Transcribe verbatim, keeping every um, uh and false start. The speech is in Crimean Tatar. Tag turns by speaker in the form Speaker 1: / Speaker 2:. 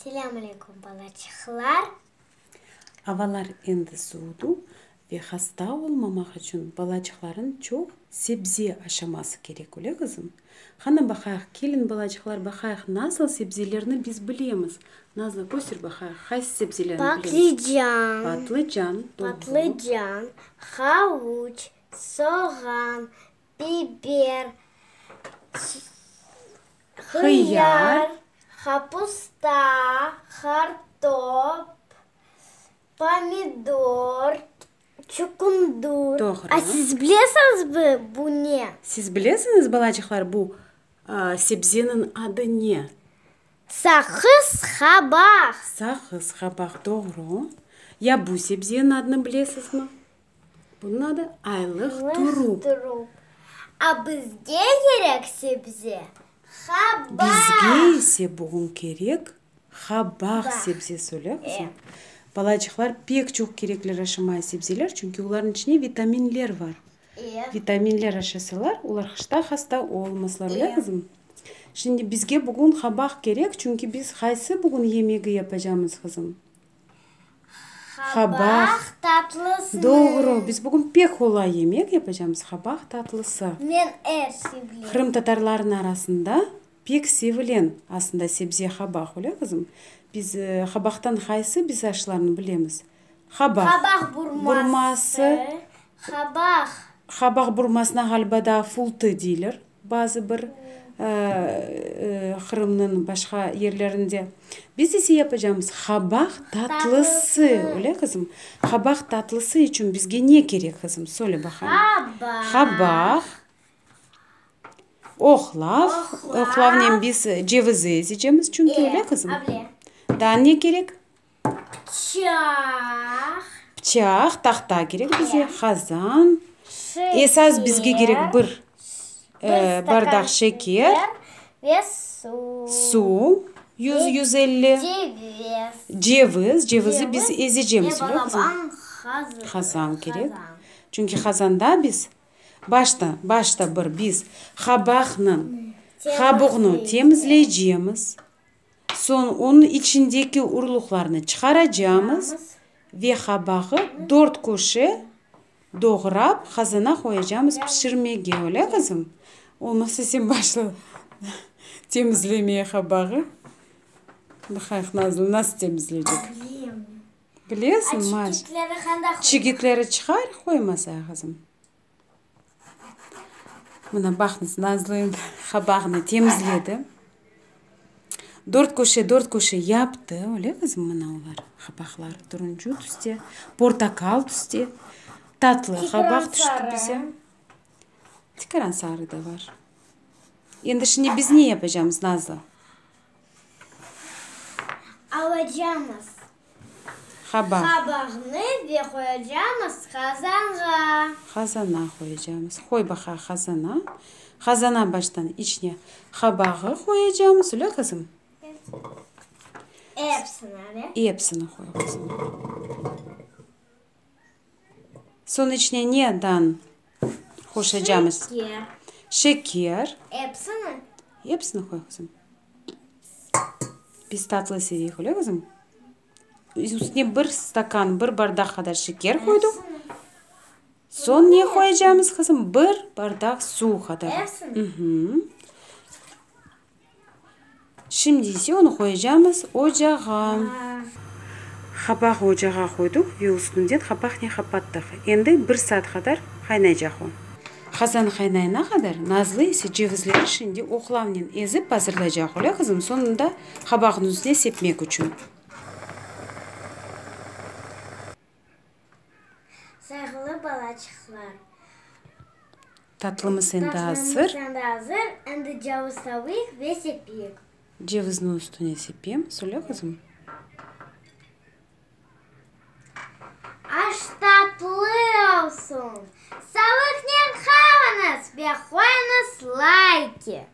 Speaker 1: Selâm aleyküm, balaçıqlar!
Speaker 2: Avalar endi suvudı ve hasta olmamaq içün balaçıqların çoq sebze aşaması kerek, öyle, qızım? Qana, baqayıq, keliñ, balaçıqlar, baqayıq, nasıl sebzelerni biz bilemiz? Nazlı, köster baqayıq, qaysı sebzelerni bilemiz?
Speaker 1: Patlıcan.
Speaker 2: Patlıcan, doğru.
Speaker 1: Patlıcan, havuç, soğan, biber, hıyar, kapusta, qartop, pomidor, çuqundır.
Speaker 2: Doğru.
Speaker 1: A siz bilesiñizmi, bu ne?
Speaker 2: Siz bilesiñiz, balaçıqlar, bu sebzeniñ adı ne?
Speaker 1: Saqız qabaq.
Speaker 2: Saqız qabaq, doğru. Ya bu sebzeniñ adını bilesizmi? Bunıñ adı aylıq turup.
Speaker 1: Turup. A bizge kerek sebze qabaq.
Speaker 2: Bizge ise bugün kerek qabaq sebzesi, öyle, qızım? Balaçıqlar, pek çoq kerekler aşamaya sebzeler, çünki olarnıñ içinde vitaminler bar. Vitaminler aşasalar, olar qışta hasta olmazlar, öyle, qızım? Şimdi bizge bugün qabaq kerek, çünki biz qaysı bugün yemegi yapacağımız, qızım?
Speaker 1: Qabaq tatlısı.
Speaker 2: Doğru. Biz bugün pek qolay yemek yapacağımız, qabaq tatlısı.
Speaker 1: Men er şey bilem.
Speaker 2: Qırımtatarlarnıñ arasında pek sevilen aslında sebze qabaq, öyle, qızım? Biz qabaqtan qaysı biz aşlarnı bilemiz? Qabaq
Speaker 1: Qabaq burması.
Speaker 2: Burması.
Speaker 1: Qabaq.
Speaker 2: Qabaq burmasına ğaliba daa fultı deyler bazı bir Qırımnıñ başqa yerlerinde. Biz ise yapacağımız qabaq tatlısı, öyle, qızım? Qabaq tatlısı içün bizge ne kerek, qızım? Söyle baqayım.
Speaker 1: Qabaq.
Speaker 2: Qabaq. Oqlav. Oqlavnen biz cevizi ezecemiz çünki, öyle, qızım? Daa ne kerek?
Speaker 1: Pıçaq.
Speaker 2: Pıçaq, tahta kerek bize, qazan. Esas bizge kerek bir bardaq şeker.
Speaker 1: Ve suv.
Speaker 2: Suv, yüz, yüz elli.
Speaker 1: Ceviz.
Speaker 2: Ceviz, cevizi biz ezecemiz,
Speaker 1: Ve
Speaker 2: öyle, qızım?
Speaker 1: balaban
Speaker 2: Qazan kerek. Çünki qazanda biz başta, başta bir biz qabaqnıñ qabuğını temizleycemiz. Soñ onıñ içindeki urluqlarnı çıqaracağımız ve qabağı dört köşe doğrap qazana qoyacağımız pişirmege, öyle, qızım? Olmasa sen başla temizlemeye qabağı. Baqayıq, Nazlı nasıl temizleycek.
Speaker 1: Bilem.
Speaker 2: Bilesiñ, maş.
Speaker 1: Çigitleri qanda?
Speaker 2: Çigitleri çıqar, qoymasa, qızım. Mına baqıñız, Nazlı endi qabağını temizledi. Dört köşe, dört köşe yaptı, öyle, qızım, mına olar qabaqlar turuncu tüste, portaqal tüste, tatlı qabaq tüşti bize. Tikaran sarı da bar. Endi şimdi biz ne yapacağımız, Nazlı?
Speaker 1: Alacağımız
Speaker 2: Qabaq.
Speaker 1: Qabağını ve qoyacağımız qazanğa.
Speaker 2: Qazana qoyacağımız. Qoy baqayıq qazana. Qazana baştan içine qabağı qoyacağımız, öyle, qızım?
Speaker 1: Epsini.
Speaker 2: Epsini qoy, qızım. Soñ içine neden qoşacağımız?
Speaker 1: Şeker.
Speaker 2: Şeker.
Speaker 1: Epsini.
Speaker 2: Epsini qoy, qızım. Biz tatlı seveyik, öyle, qızım? Üstüne bir stakan, bir bardaq qadar şeker qoydıq. Soñ ne qoyacağımız, qızım? Bir bardaq suv qadar.
Speaker 1: Epsini.
Speaker 2: Şimdi ise onı qoyacağımız ocağa. Qabaq ocağa qoydıq ve üstünden qapaqnen qapattıq. Endi bir saat qadar qaynaycaq o. Qazan qaynayana qadar Nazlı ise cevizleri şimdi oqlavnen ezip azırlaycaq, öyle, qızım? Soñunda qabaqnıñ üstüne sepmek içün.
Speaker 1: Sayğılı balaçıqlar.
Speaker 2: Tatlımız endi azır.
Speaker 1: Tatlımız endi azır. Endi ceviz tavayıq ve sepeyik.
Speaker 2: Cevizni üstüne sepemiz, öyle, qızım?
Speaker 1: Aş tatlı olsun. Sağlıqnen qalıñız ve qoyuñız layki.